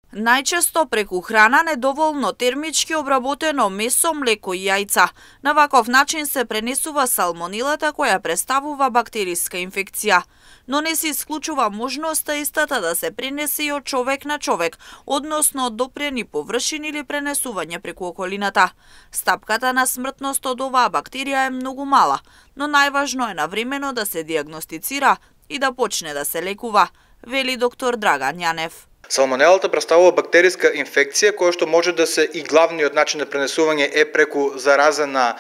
Најчесто преку храна, недоволно термички обработено месо, млеко и јајца. На ваков начин се пренесува салмонелата која представува бактериска инфекција. Но не се исклучува можноста истата да се пренесе и од човек на човек, односно од допрени површини или пренесување преку околината. Стапката на смртност од оваа бактерија е многу мала, но најважно е навремено да се диагностицира и да почне да се лекува, вели доктор Драган Јанев. Салмонелата представува бактериска инфекција која што може да се и главниот начин на пренесување е преку заразена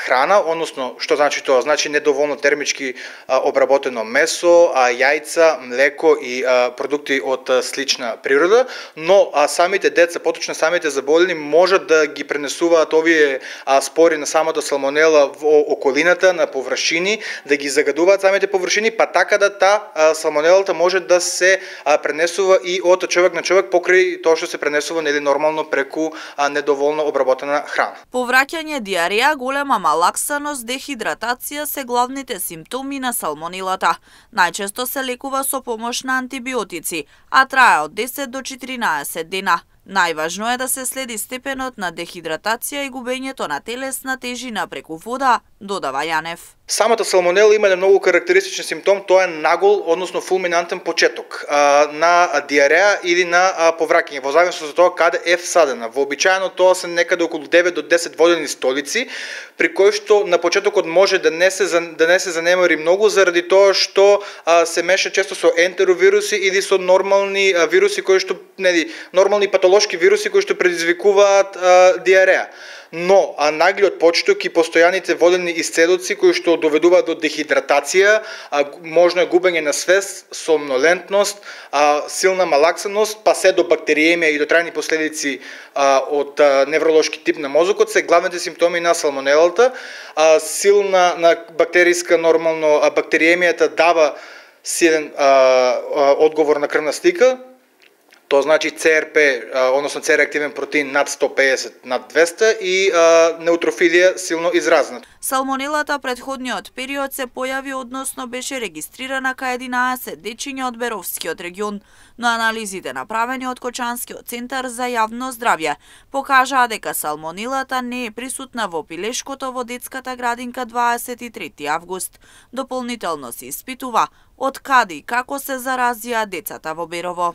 храна, односно што значи тоа? Значи недоволно термички обработено месо, јајца, млеко и продукти од слична природа, но самите деца, поточно самите заболени, можат да ги пренесуваат овие спори на самата салмонела во околината, на површини, да ги загадуваат самите површини, па така да салмонелата може да се пренесува и од човек на човек покрај тоа што се пренесува нормално преку недоволно обработена храна. Повраќање, диареја, голема малаксаност, дехидратација се главните симптоми на салмонелата. Најчесто се лекува со помош на антибиотици, а трае од 10 до 14 дена. Најважно е да се следи степенот на дехидратација и губењето на телесна тежина преку вода, додава Јанев. Самата салмонела има многу карактеристичен симптом, тоа е нагол, односно фулминантен почеток на диареја или на повраќање, во зависност од тоа каде е всадена. Вообичаено тоа се некаде околу 9 до 10 водени столици, при кои што на почетокот може да не се занемари многу заради тоа што се меша често со ентеровируси или со нормални вируси кои што нормални патолошки вируси кои што предизвикуваат диареја. Но наглиот почеток и постојаните водени исцедоци кои што доведуваат до дехидратација, можно е губење на свест, сомнолентност, силна малаксаност, па се до бактериемија и до трајни последици од невролошки тип на мозокот се главните симптоми на салмонелата. Силна на бактериска нормално бактериемијата дава силен одговор на крвна слика. Тоа значи ЦРП, односно С-реактивен протеин над 150, над 200 и неутрофилија силно изразна. Салмонелата претходниот период се појави, односно беше регистрирана кај 11 дечиња од Беровскиот регион, но анализите направени од Кочанскиот центар за јавно здравје покажаа дека салмонелата не е присутна во пилешкото во детската градинка 23 август. Дополнително се испитува од каде и како се заразија децата во Берово.